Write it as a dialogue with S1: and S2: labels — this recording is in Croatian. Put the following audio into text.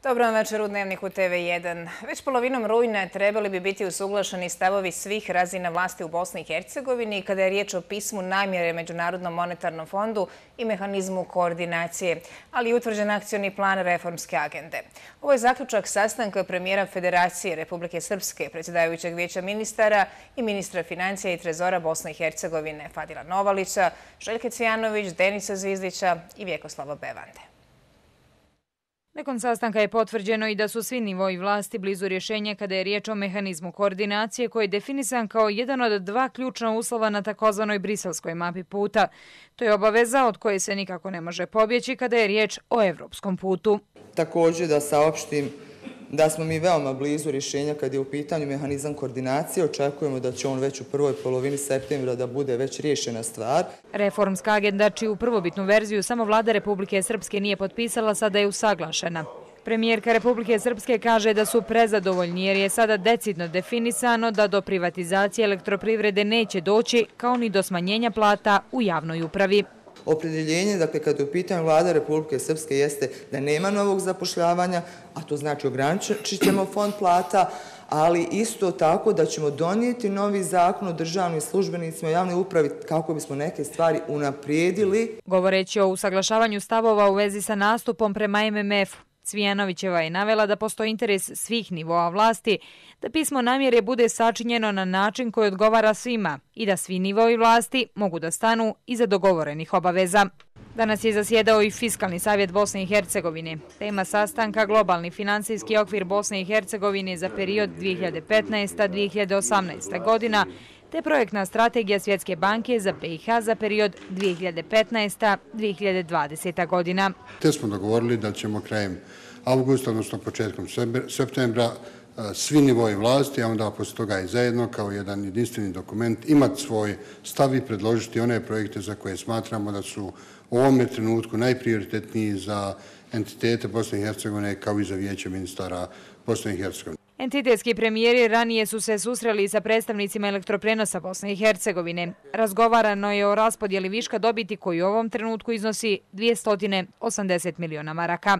S1: Dobro vam večer u Dnevniku TV1. Već polovinom rujna trebali bi biti usuglašeni stavovi svih razina vlasti u Bosni i Hercegovini kada je riječ o pismu namjere Međunarodnom monetarnom fondu i mehanizmu koordinacije, ali i utvrđen akcioni plan reformske agende. Ovo je zaključak sastanka premijera Federacije Republike Srpske, predsjedavajućeg vijeća ministara i ministra financija i trezora Bosne i Hercegovine Fadila Novalića, Željke Cvijanović, Denisa Zvizdića i Vjekoslava Bevande.
S2: Nakon sastanka je potvrđeno i da su svi nivoi vlasti blizu rješenja kada je riječ o mehanizmu koordinacije koji je definisan kao jedan od dva ključna uslova na takozvanoj briselskoj mapi puta. To je obaveza od koje se nikako ne može pobjeći kada je riječ o evropskom putu.
S3: Također da saopštim da smo mi veoma blizu rješenja kad je u pitanju mehanizam koordinacije. Očekujemo da će on već u prvoj polovini septembra da bude već riješena stvar.
S2: Reformska agenda, čiju prvobitnu verziju samo vlada Republike Srpske nije potpisala, sada je usaglašena. Premijerka Republike Srpske kaže da su prezadovoljni jer je sada decidno definisano da do privatizacije elektroprivrede neće doći, kao ni do smanjenja plata u javnoj upravi.
S3: Opredjeljenje, dakle, kad je u pitanju vlada Republike Srpske jeste da nema novog zapošljavanja, a to znači ograničit ćemo fond plata, ali isto tako da ćemo donijeti novi zakon o državnim službenicima i javnoj upravi kako bismo neke stvari unaprijedili.
S2: Govoreći o usaglašavanju stavova u vezi sa nastupom prema MMF-u, Cvijanovićeva je navela da postoji interes svih nivoa vlasti da pismo namjere bude sačinjeno na način koji odgovara svima i da svi nivoi vlasti mogu da stanu iza dogovorenih obaveza. Danas je zasjedao i Fiskalni savjet Bosne i Hercegovine. Tema sastanka globalni financijski okvir Bosne i Hercegovine za period 2015-2018 godina te projektna strategija Svjetske banke za BiH za period 2015-2020 godina.
S4: Te smo dogovorili da ćemo krajem avgusta, odnosno početkom septembra, svi nivoji vlasti, a onda posle toga i zajedno kao jedan jedinstveni dokument imati svoj stav i predložiti one projekte za koje smatramo da su u ovome trenutku najprioritetniji za entitete Bosne i Hercegovine kao i za vijeće ministara Bosne i Hercegovine.
S2: Entitetski premijeri ranije su se susreli sa predstavnicima elektroprenosa Bosne i Hercegovine. Razgovarano je o raspodjeli viška dobiti koji u ovom trenutku iznosi 280 miliona maraka.